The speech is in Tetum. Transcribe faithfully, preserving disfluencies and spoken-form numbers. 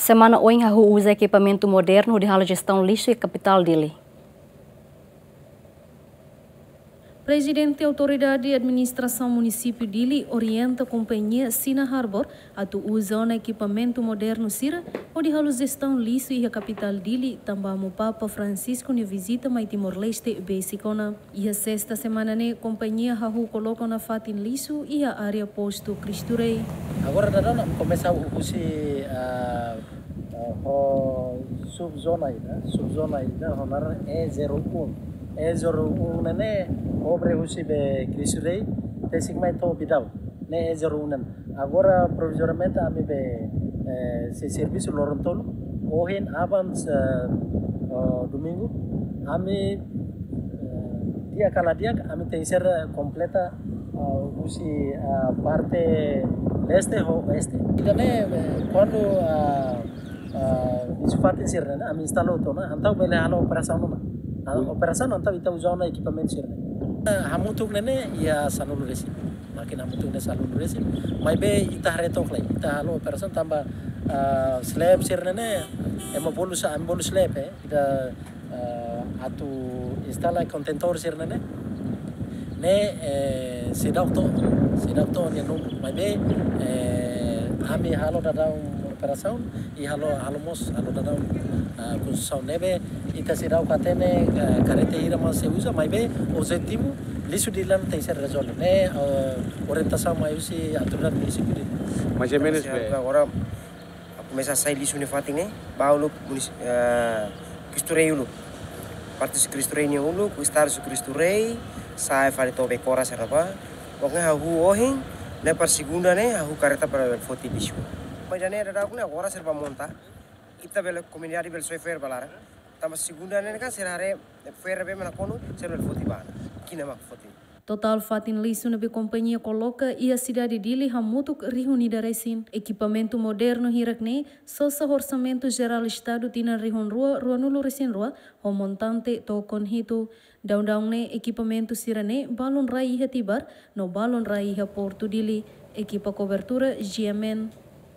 Semana oin hahú uza ekipamentu modernu hodi halo jestaun lixu iha kapitál Dili. Prezidente Autoridade Administrasaun Munisípiu Dili orienta kompañia Sina Harbour atu uza ona ekipamentu modernu sira hodi halo jestaun lixu iha kapitál Dili, tanba Amu Papa Francisco nia vizita mai Timor-Leste besik ona. Iha sesta semana ne'e, kompañia hahú koloka ona fatin lixu iha área postu Cristo Rei. Agora daudaun ami komesa husi, ah, ah, ho subzona ida, subzona ida ho naran E zero um. E zero um ne'e ne'e, obre husi be Cristo Rei, besik mai to'o Bidau. Ne'e E zero um ne'e. Agora, provizoriamente, ami be, eh, sei servisu loron tolu. Ohin, aban, eh, oh, domingu. Ami, eh, di'ak ka la di'ak, ami tenke ser kompleta, ah, husi, ah, parte leste ho oeste. Ida-ne'e, eh, kuandu, ah, ah, lixu fatin sira-ne'e, ami instala hotu ona, entaun bele halo operasaun ona. Ah, operasaun entaun ita uza ona ekipamentu sira-ne'e. Ah, hamutuk ne'e ne'e iha sanulu resin. Mákina hamutuk ne'e sanulu resin. Maibé ita haree took lai, ita halo operasaun tanba, ah, slab sira-ne'e ne'e, ema bolu sa, ami bolu slab, eh. Ita, ah, atu instala kontentór sira-ne'e ne'e. Ne'e, eh, seidauk to'o, seidauk to'o nia númeru. Maibé, eh, ami halo daudaun operasaun, i halo, halo mós, halo daudaun, ah, konstrusaun ne'ebé, ita seidauk hatene, ah, karreta hira mak sei uza, maibé, objetivu, lixu Dili nian tenke ser rezolve. Ne'e, ah, orientasaun mai husi autoridade munisípiu Dili. Mais ou menos, be. Agora, komesa sai lixu nia fatin ne'e, ba uluk munis-, eh, Cristo Rei uluk. Parte husi Cristo Rei nia uluk, estrada husi Cristo Rei, sai fali to'o be Kora sira-ne'ebá. Pokoknya hahú ohin, ne'e para segunda ne'e, hahú karreta para foti lixu. Maibé ida-ne'e daudaun ne'e agora sira bá monta. Ita bele komunidade bele soe fo'er ba laran. Tanba segunda ne'e kan sira haree fo'er be mana konu, sira bele foti ba ona. Ki'ik mak foti. Totál fatin lixu ne'ebé kompañia koloka iha sidade Dili hamutuk rihun ida resin. Ekipamentu modernu hirak-ne'e sosa orsamentu jerál Estadu tinan rihun rua ruanulu resin rua, ho montante to'o kona hitu. Daudaun ne'e ekipamentu sira-ne'e balun rai iha Tibar, no balun rai iha Portu Dili. Ekipa kobertura G M N.